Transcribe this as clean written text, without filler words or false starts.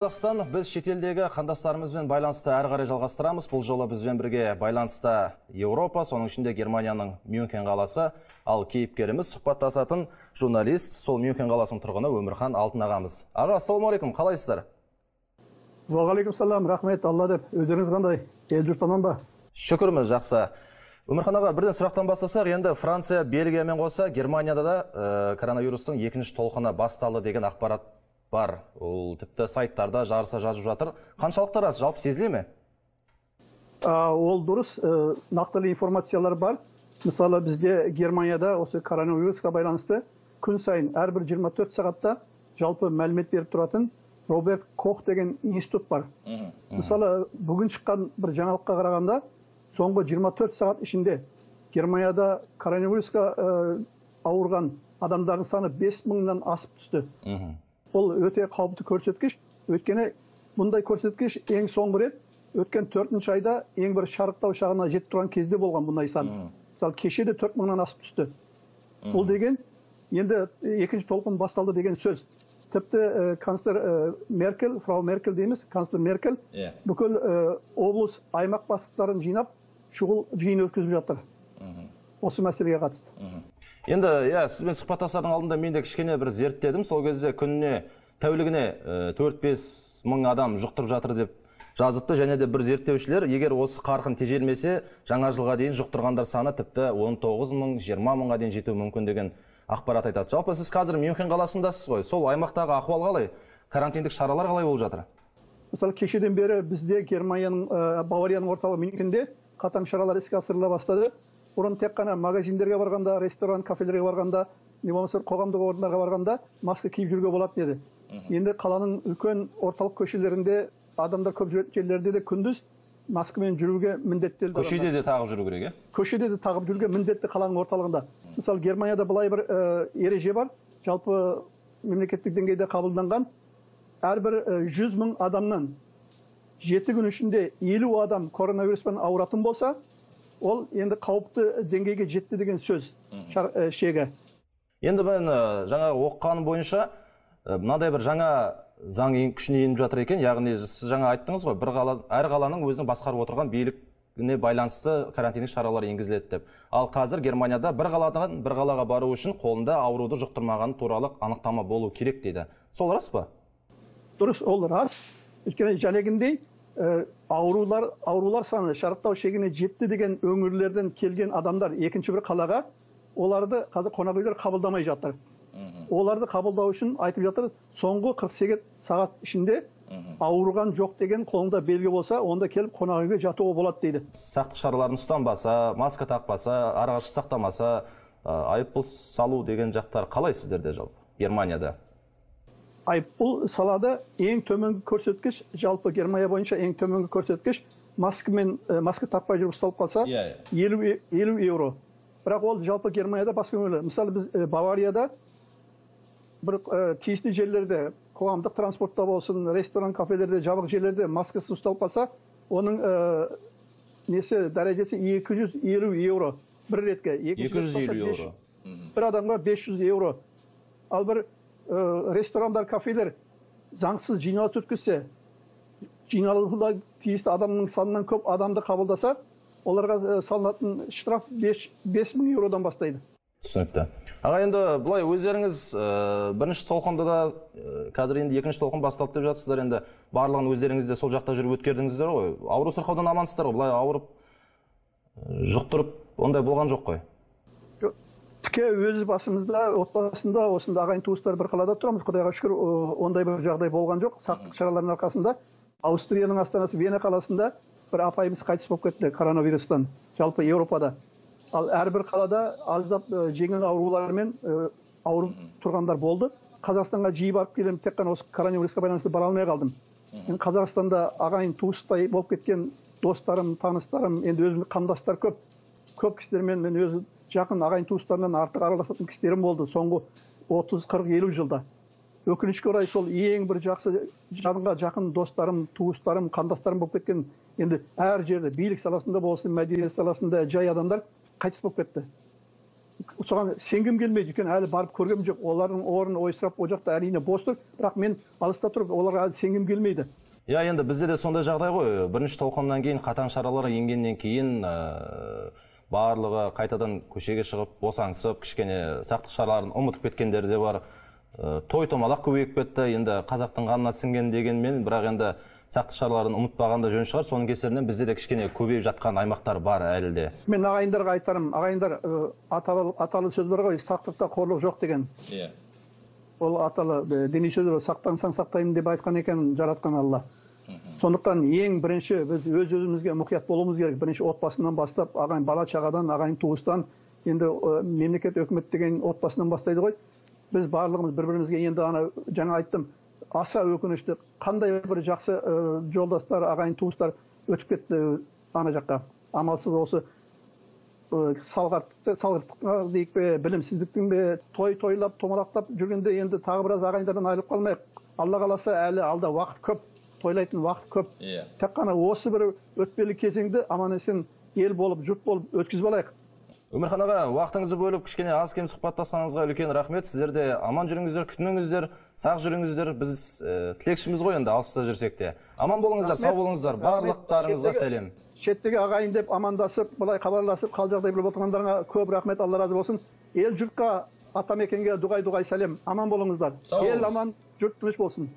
Қазақстан, біз шетелдегі қандастарымызбен байланысты әрі қарай жалғастырамыз. Бұл жолы бізбен бірге байланыста Еуропа, соның ішінде Германияның Мюнхен қаласы, ал кейіпкеріміз сұхбаттасатын журналист, сол Мюнхен қаласының тұрғыны Өмірхан Алтын ағамыз. Аға, ассалаумағалейкум, қалайсыздар? Уағалейкумассалам, рахмет, Алла деп. Өздеріңіз қандай? Ел жұрт аман ба? Шүкірміз, жақсы. Өмірхан аға, бірден сұрақтан бастасақ, енді Франция, Бельгиямен қоса Германияда да коронавирустың екінші толқыны басталды деген ақпарат бар. Ол тіпті сайттарда жарыса жазып жатыр. Қаншалықты рас, жалпы сезіле ме? Ол дұрыс, нақтылы информациялар бар. Мысалы, бізде Германияда осы коронавирусқа байланысты күн сайын әрбір 24 сағатта жалпы мәлімет беріп тұратын Роберт Кох деген институт бар. Мысалы, бүгін шыққан бір жаңалыққа қарағанда, соңғы 24 сағат ішінде Германияда коронавирусқа ауырған адамдардың саны 5000-нан асып түсті. Ол өте қауіпті көрсеткіш. Өйткені бұндай көрсеткіш ең соңғы рет өткен 4-ші айда ең бір шарықтау шағына жетіп тұрған кезде болған бұндай сан. Мысалы, кеше де 4000-нан асып түсті. Бұл деген енді екінші толқын басталды деген сөз. Тіпті канцлер Меркель, фрау Меркель дейміз, канцлер Меркель бүкіл облыс аймақ бастықтарын жинап, шұғыл жиын өткізіп жатыр. Осы мәселеге қатысты. Енді, сізбен сұхбаттасардың алдында мен де кішкене бір зерттедім. Сол кезде күніне, тәулігіне 4-5 мың адам жұқтырып жатыр деп жазыпты. Және де бір зерттеушілер, егер осы қарқын тежелмесе, жаңа жылға дейін жұқтырғандар саны тіпті 19 мың, 20 мыңға дейін жетуі мүмкін деген ақпарат айтады. Жалпы сіз қазір Мюнхен қаласындасыз ғой. Сол аймақтағы ахуал қалай? Карантиндік шаралар қалай болып жатыр? Мысалы, кешеден бері бізде Германияның Баварияның орталығы Мюнхенде қатаң шаралар іске асырыла бастады. Бұрын тек қана магазиндерге барғанда, ресторан, кафелерге барғанда, не болмаса қоғамдық орындарға барғанда маска киіп жүруге болатын еді. Енді қаланың үлкен орталық көшелерінде, адамдар көп жерлерде де күндіз маскамен жүруге міндеттелді. Көшеде де тағып жүру керек, Көшеде де тағып жүруге міндетті қаланың орталығында. Мысалы, Германияда былай бір ереже бар, жалпы мемлекеттік деңгейде қабылданған. Әрбір 100 мың адамнан 7 күн ішінде 50 адам коронавируспен ауыратын болса, ол енді қауіпті деңгейге жетті деген сөз шегі. Енді мен жаңа оққаным бойынша мынадай бір жаңа заң күшіне еніп жатыр екен. Яғни сіз жаңа айттыңыз ғой, әр қаланың өзінің басқарып отырған билігіне байланысты карантиндік шаралар енгізіледі деп. Ал қазір Германияда бір қаладан бір қалаға бару үшін қолында ауруды жұқтырмағаны туралы анықтама болу керек дейді. Сол рас па? Дұрыс, ол рас. Өйткені жәлегіндей аурулар саны шарықтау шегіне жетті деген өңірлерден келген адамдар екінші бір қалаға, оларды қазір қонақүйлер қабылдамай жатыр. Оларды қабылдау үшін айтып жатыр, соңғы 48 сағат ішінде ауырған жоқ деген қолында белгі болса, онда келіп қонақүйге жатуға болады дейді. Сақтық шараларын ұстанбаса, маска тақпаса, арақашықтық сақтамаса, айыппұл салу деген жақтар қалай сіздерде жалпы Германияда? Айыппұл салады. Ең төменгі көрсеткіш, жалпы Германия бойынша ең төменгі көрсеткіш, маска тақпай жүріп ұсталып қалса 50 евро. Бірақ ол жалпы Германияда басқа өңірлер. Мысалы, біз Баварияда бір тиісті жерлерде, қоғамдық транспортта болсын, ресторан, кафелерде, жабық жерлерде маскасы ұсталып қалса, оның дәрежесі 250 евро бір ретке. 250 евро. Бір адамға 500 евро. Ал бір ресторандар, кафелер заңсыз жиналыс өткізсе, жиналуға тиісті адамның санынан көп адамды қабылдаса, оларға салынатын штраф 5000 евродан бастайды. Түсінікті. Аға, енді бұлай өздеріңіз бірінші толқында да, қазір енді екінші толқын басталды деп жатсыздар, енді барлығын өздеріңіз де сол жақта жүріп өткердіңіздер ғой. Ауру сырқаудан амансыздар ғой, бұлай ауырып, жұқтырып, ондай болған жоқ қой? Тіке өз басымызда, отбасында, осында ағайын туыстар бір қалада тұрамыз. Құдайға шүкір, ондай бір жағдай болған жоқ. Сақтық шараларының арқасында Аустрияның астанасы Вена қаласында бір апайымыз қайтыс болып кетті коронавирустан, жалпы Еуропада. Ал әрбір қалада аздап жеңіл аурулармен ауырып тұрғандар болды. Қазақстанға жиі барып келем, тек қана осы коронавирусқа байланысты бара алмай қалдым. Мен Қазақстанда ағайын туыстай болып кеткен достарым, таныстарым, енді өзімнің қандастар көп кісілермен мен өзі жақын ағайын туыстарынан артық араласатын кісілерім болды соңғы 30, 40, 50 жылда. Өкінішке орай сол ең бір жақсы жанға жақын достарым, туыстарым, қандастарым болып кеткен, енді әр жерде билік саласында болсын, мәдениет саласында жай адамдар қайтыс болып кетті. соған сенгім келмейді екен, әлі барып көргем жоқ. Олардың орын ойсырап о жақта әрине бос тұр, бірақ мен алыста тұрып оларға әлі сенгім келмейді. Иә, енді бізде де сондай жағдай ғой. Бірінші толқыннан кейін қатаң шаралар енгеннен кейін барлығы қайтадан көшеге шығып, босаңсып, кішкене сақтық шараларын ұмытып кеткендер де бар. Той томалақ көбейіп кетті. Енді қазақтың қанына сіңген дегенмен, бірақ енді сақтық шараларын ұмытпағанда жөн шығар. Соның кесірінен бізде де кішкене көбейіп жатқан аймақтар бар әлі де. Мен ағайындарға айтарым, ағайындар, аталы сөз бар ғой, сақтықта қорлық жоқ деген. Иә. Ол аталы діни сөз бар, сақтансаң сақтаймын деп айтқан екен жаратқан Алла. Сондықтан ең бірінші біз өз-өзімізге мұқият болуымыз керек. Бірінші отбасынан бастап, ағайын бала шағадан, ағайын туыстан, енді мемлекет өкімет деген отбасынан бастайды ғой. Біз барлығымыз бір-бірімізге енді жаңа айттым, аса өкінішті, қандай бір жақсы жолдастар, ағайын туыстар өтіп кетті ана жаққа. Амалсыз осы салғырттыққа дейік пе, білімсіздіктің бе, тойлап, томалақтап жүргенде енді тағы біраз ағайындардан айырылып қалмайық. Алла қаласа әлі алда уақыт көп, тойлайтын уақыт көп. Тек қана осы бір өтпелі кезеңді аман-есен ел болып, жұрт болып өткізіп алайық. Өмірхан аға, уақытыңызды бөліп, кішкене аз кем сұхбаттасқаныңызға үлкен рахмет. Сіздер де аман жүріңіздер, күтініңіздер, сақ жүріңіздер. Біз тілекшіміз ғой енді, алыста жүрсек те. Аман болыңыздар, сау болыңыздар. Барлықтарыңызға сәлем. Шеттегі ағайын деп амандасып, былай хабарласып, қал жағдай біліп отырғандарыңа көп рахмет, Алла разы болсын. Ел жұртқа, атамекенге дұғай сәлем. Аман болыңыздар. Ел аман, жұрт тыныш болсын.